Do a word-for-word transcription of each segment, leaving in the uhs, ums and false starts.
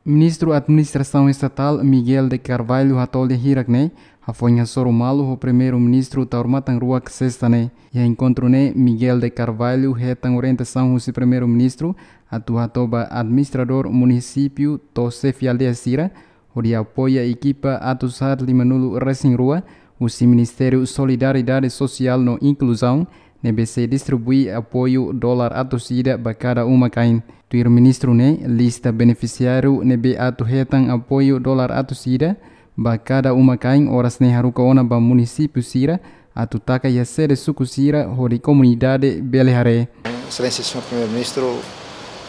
Ministru Administrasaun Estatál Miguel de Carvalho hato'o lia hirak ne'e hafoin hasoru malu ho Primeiru-Ministru Taur Matan Ruak sesta ne'e. Iha enkontru ne'e, Miguel de Carvalho hetan orientasaun husi Primeiru-Ministru atu hato'o ba administradór munisípiu to'o xefe aldeia sira hodi apoia ekipa atus haat lima-nulu resin rua husi Ministériu Solidariedade Sosiál no Inkluzaun, ne'ebé sei distribui apoiu dolar atus ida ba kada uma-kain. Tuir ministru ne'e, lista benefisiáriu ne'ebé atu hetan apoiu dolar atus ida ba kada uma-kain oras ne'e haruka ona ba munisípiu sira atu taka iha sede suku sira hodi komunidade bele haree. Exelénsia Señór Primeiru-Ministru,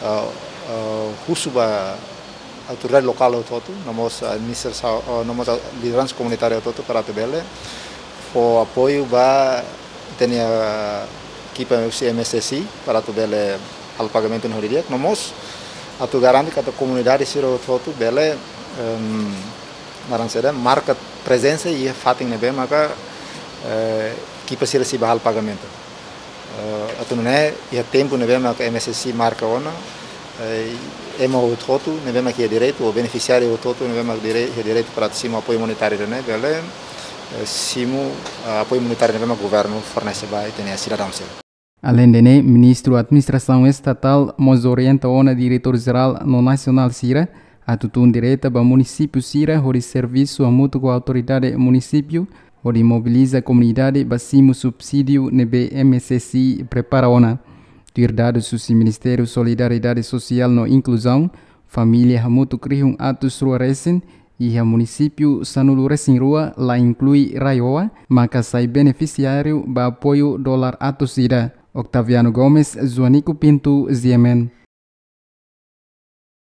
ah, ah, husu ba autoridade lokál hotu-hotu, no mós administrasaun, ah, no mós lideransa komunitária hotu-hotu para atu bele fó apoiu ba ita-nia ekipa husi M S S I para atu bele halo pagamentu ne'e ho di'ak, no mós atu garante katak komunidade sira hotu-hotu bele, em, naran saida, marka prezensa iha fatin ne'ebé maka, eh, ekipa sira sei bá halo pagamentu. Eh, atu nune'e, iha tempu ne'ebé maka M S S I marka ona, eh, ema hotu-hotu ne'ebé maka iha direitu, ou benefisiáriu hotu-hotu ne'ebé maka direi-, iha direitu para atu simu apoiu monetáriu ne'e, bele, eh, simu, ah, apoiu monetáriu ne'ebé maka governu fornese ba ita-nia sidadaun sira. Aleinde ne'e, Ministru Administrasaun Estatál mós orienta ona diretór jerál no nasionál sira atu tun direta ba munisípiu sira hodi servisu hamutuk ho autoridade munisípiu hodi mobiliza komunidade ba simu subsídiu ne'ebé M S S I prepara ona. Tuir dadus husi Ministériu Solidariedade Sosiál no Inkluzaun, família hamutuk rihun atus rua resin iha munisípiu sanulu resin rua, la inklui RAEOA, maka sai benefisiáriu ba apoiu dolar atus ida. Octaviano Gomes, Joanico Pinto, G M N.